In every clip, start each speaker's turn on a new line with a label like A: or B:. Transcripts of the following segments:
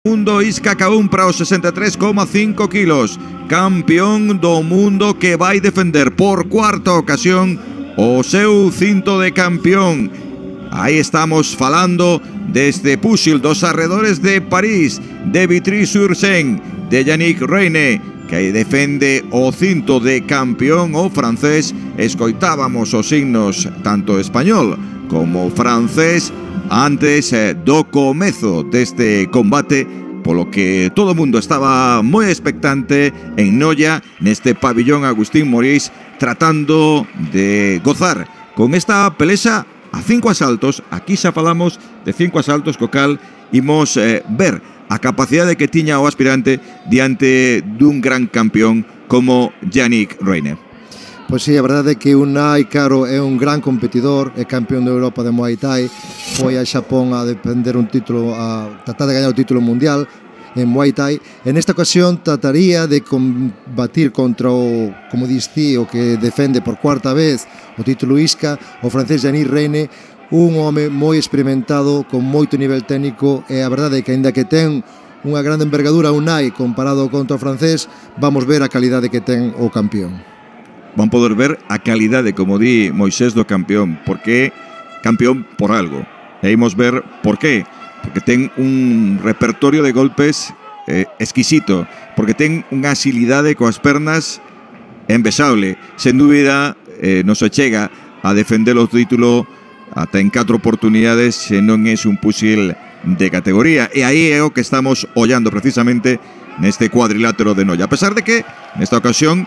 A: Mundo Isca Caún para os 63,5 kilos. Campeón do mundo que vai defender por cuarta ocasión o seu cinto de campeón. Aí estamos falando desde Pusil, dos arredores de París, de Vitry-sur-Seine, de Yannick Reine, que defende o cinto de campeón o francés. Escoitábamos os signos tanto español como francés antes do comezo deste combate, polo que todo o mundo estaba moi expectante en Noia, neste pabillón Agustín Morís, tratando de gozar con esta pelesa a 5 asaltos. Aquí xa falamos de 5 asaltos, co cal imos ver a capacidade que tiña o aspirante diante dun gran campeón como Yannick Reine.
B: Pois sí, a verdade é que Unai Caro é un gran competidor, é campeón de Europa de Muay Thai, foi a Xapón a defender un título, a tratar de gañar o título mundial en Muay Thai. En esta ocasión trataría de combatir contra o, como diste, o que defende por cuarta vez o título Isca, o francés Yannick Reine, un home moi experimentado, con moito nivel técnico, e a verdade é que, aínda que ten unha grande envergadura Unai comparado contra o francés, vamos ver a calidade que ten o campeón.
A: Van poder ver a calidade, como di Moisés, do campeón, porque campeón por algo. E imos ver por qué. Porque ten un repertorio de golpes exquisito, porque ten unha axilidade coas pernas envexable. Sen dúbida, non se chega a defender o título ata en 4 oportunidades se non é un Pusil de categoría. E aí é o que estamos ollando precisamente neste cuadrilátero de Noia. A pesar de que, nesta ocasión,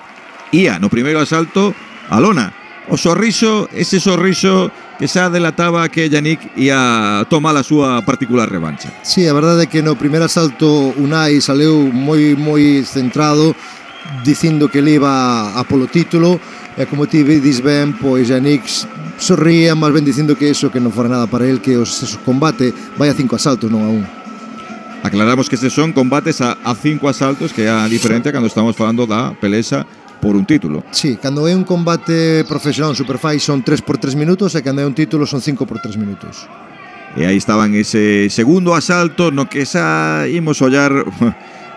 A: ía no primeiro asalto a lona. O sorriso, ese sorriso que xa delataba que Yannick ia tomar a súa particular revancha.
B: Sí, a verdade é que no primeiro asalto Unai saleu moi centrado, dicindo que ele iba a polo título, e como ti dis ben, pois Yannick sorría, máis ben dicindo que eso que non fora nada para el, que o combate vai a 5 asaltos, non a 1.
A: Aclaramos que estes son combates a 5 asaltos, que é a diferencia cando estamos falando da pelesa por un título.
B: Sí, cando é un combate profesional Superfight son 3 por 3 minutos, e cando é un título son 5 por 3 minutos.
A: E aí estaban ese segundo asalto no que xa imos ollar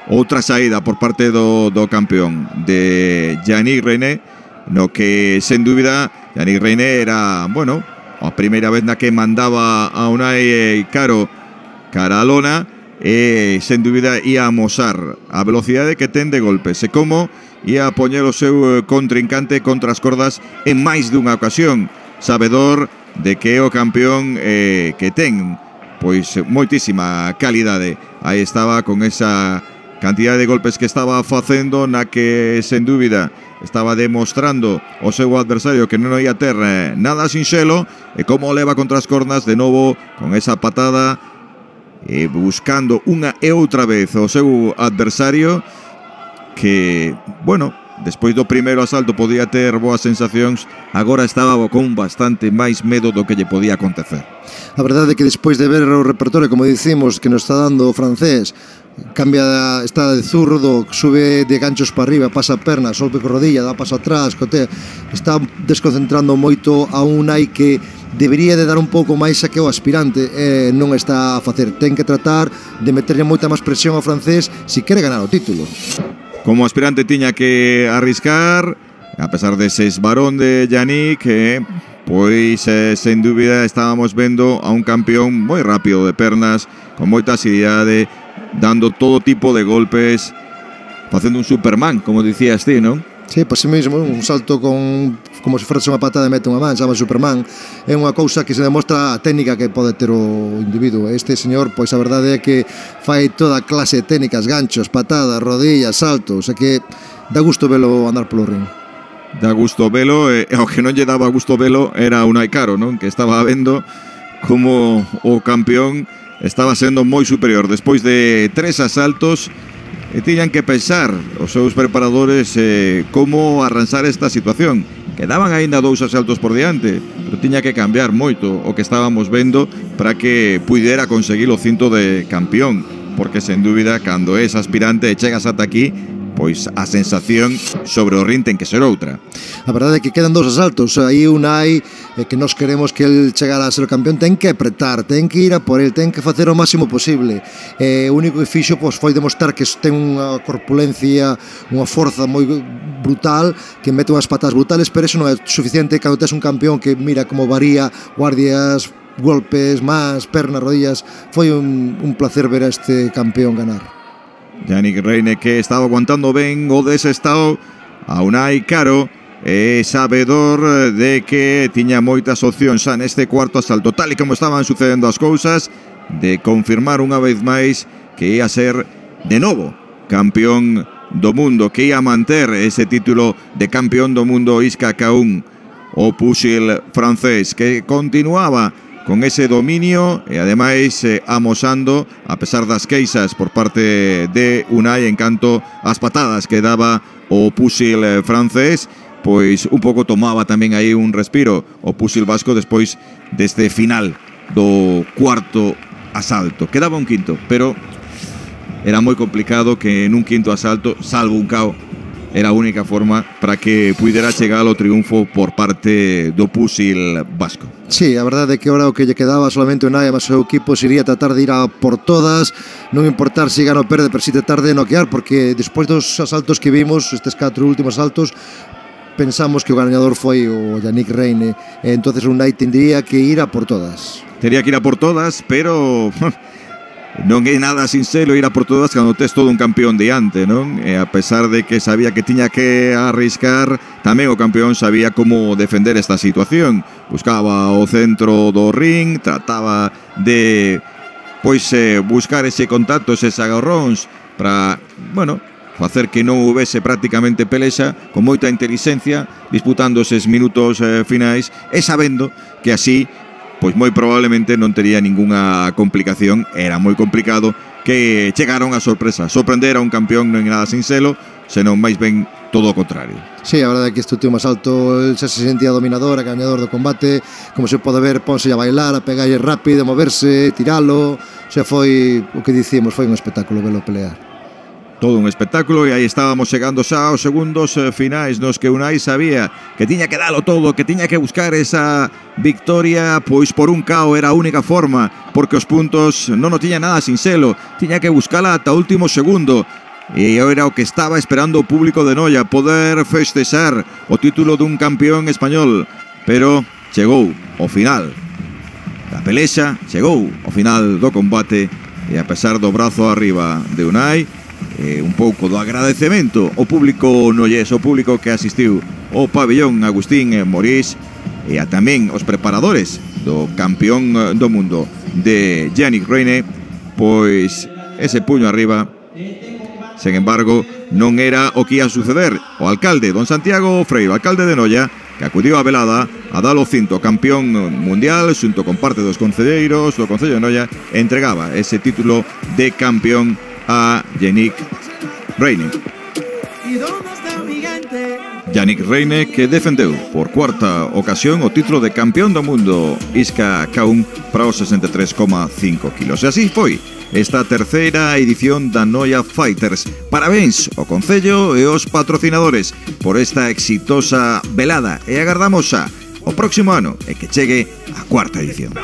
A: outra saída por parte do campeón de Yannick Reine, no que sen dúbida Yannick Reine era, bueno, a primeira vez na que mandaba a Unai Caro cara a lona, e sen dúbida ia amosar a velocidade que ten de golpes e como ia a poñer o seu contrincante contra as cordas en máis dunha ocasión, sabedor de que é o campeón que ten pois moitísima calidade. Aí estaba con esa cantidad de golpes que estaba facendo, na que sen dúbida estaba demostrando o seu adversario que non ia ter nada sinxelo, e como leva contra as cordas de novo con esa patada, buscando unha e outra vez o seu adversario, que, bueno, despois do primeiro asalto podía ter boas sensacións, agora estaba con bastante máis medo do que lle podía acontecer.
B: A verdade é que despois de ver o repertorio, como dicimos, que nos está dando o francés, cambia, está de zurdo, sube de ganchos para arriba, pasa a perna, solpe con rodilla, dá paso atrás, cotea, está desconcentrando moito a Unai, que debería de dar un pouco máis a que o aspirante non está a facer. Ten que tratar de meterlle moita máis presión ao francés se quere ganar o título.
A: Como aspirante tiña que arriscar, a pesar dese esbarón de Yannick, pois sen dúbida estábamos vendo a un campeón moi rápido de pernas, con moita axilidade, dando todo tipo de golpes, facendo un Superman, como dicías ti, non?
B: Sí, por si mesmo, un salto como se fose unha patada e mete unha man, chama Superman. É unha cousa que se demostra a técnica que pode ter o individuo. Este señor, pois a verdade é que fai toda clase de técnicas, ganchos, patadas, rodillas, saltos, é que dá gusto velo andar polo ring.
A: Dá gusto velo, e o que non lle daba gusto velo era Unai Caro, non? Que estaba vendo como o campeón estaba sendo moi superior despois de 3 asaltos. E tiñan que pensar os seus preparadores como arranxar esta situación. Quedaban aínda 2 asaltos por diante, pero tiña que cambiar moito o que estábamos vendo para que puidera conseguir o cinto de campeón, porque sen dúbida, cando és aspirante e chegas ata aquí, pois a sensación sobre o ring ten que ser outra.
B: A verdade é que quedan 2 asaltos. Aí Unai, que nós queremos que el chegara a ser o campeón, ten que apretar, ten que ir a por el, ten que facer o máximo posible. O único que fixo foi demostrar que ten unha corpulencia, unha forza moi brutal, que mete unhas patas brutales, pero eso non é suficiente cando tes un campeón que mira como varía guardias, golpes, más, pernas, rodillas. Foi un placer ver a este campeón ganar.
A: Yannick Reine, que estaba aguantando ben o desestado a Unai Caro, e sabedor de que tiña moitas opcións xa neste cuarto asalto, tal e como estaban sucedendo as cousas, de confirmar unha vez máis que ia ser de novo campeón do mundo, que ia manter ese título de campeón do mundo Isca Kaun, o púxil francés, que continuaba con ese dominio e ademais amosando, a pesar das queixas por parte de Unai en canto ás patadas que daba o púxil francés, pois un pouco tomaba tamén aí un respiro o púxil vasco despois deste final do cuarto asalto. Quedaba un quinto, pero era moi complicado que en un quinto asalto, salvo un KO, era a única forma para que pudera chegar ao triunfo por parte do púxil vasco.
B: Sí, a verdade é que ahora o que lle quedaba solamente Unai, mas o seu equipo sería tratar de ir a por todas, non importar se gana ou perde, pero si tratar de noquear, porque despois dos asaltos que vimos, estes 4 últimos asaltos, pensamos que o gañador foi o Yannick Reine, e entonces Unai tendría que ir a por todas.
A: Tería que ir a por todas, pero non é nada sinxelo ir a por todas cando tes todo un campeón diante, non? E a pesar de que sabía que tiña que arriscar, tamén o campeón sabía como defender esta situación. Buscaba o centro do ring, trataba de buscar ese contacto, eses agarróns para, bueno, facer que non houvese prácticamente pelexa, con moita intelixencia, disputando eses minutos finais e sabendo que así pois moi probablemente non tería ningunha complicación. Era moi complicado que chegaron a sorpresa. Sorprender a un campeón non é nada sinxelo, senón máis ben todo o contrario.
B: Sí, a verdade é que este último asalto el xa se sentía dominador, gañador do combate. Como se pode ver, ponse a bailar, a pegarlle rápido, a moverse, tiralo. O sea, foi o que dicimos, foi un espectáculo velo pelear.
A: Todo un espectáculo, e aí estábamos chegando xa aos segundos finais nos que Unai sabía que tiña que dalo todo, que tiña que buscar esa victoria, pois por un KO era a única forma, porque os puntos non o tiña nada sinxelo, tiña que buscala ata o último segundo, e era o que estaba esperando o público de Noia, poder festexar o título dun campeón español, pero chegou o final da pelexa, chegou o final do combate, e a pesar do brazo arriba de Unai, un pouco do agradecemento ao público nollés, o público que asistiu ao pabellón Agustín Morís, e a tamén os preparadores do campeón do mundo de Yannick Reine, pois ese puño arriba, sen embargo, non era o que ia suceder. O alcalde, don Santiago Freiro, alcalde de Noia, que acudiu á velada a dar o cinto campeón mundial xunto con parte dos concelleiros do Concello de Noia, entregaba ese título de campeón a Yannick Reine. Yannick Reine, que defendeu por cuarta ocasión o título de campeón do mundo Isca Kaun para os 63,5 kilos. E así foi esta terceira edición da Noia Fighters. Parabéns ao Concello e aos patrocinadores por esta exitosa velada, e agardamos xa o próximo ano e que chegue a cuarta edición.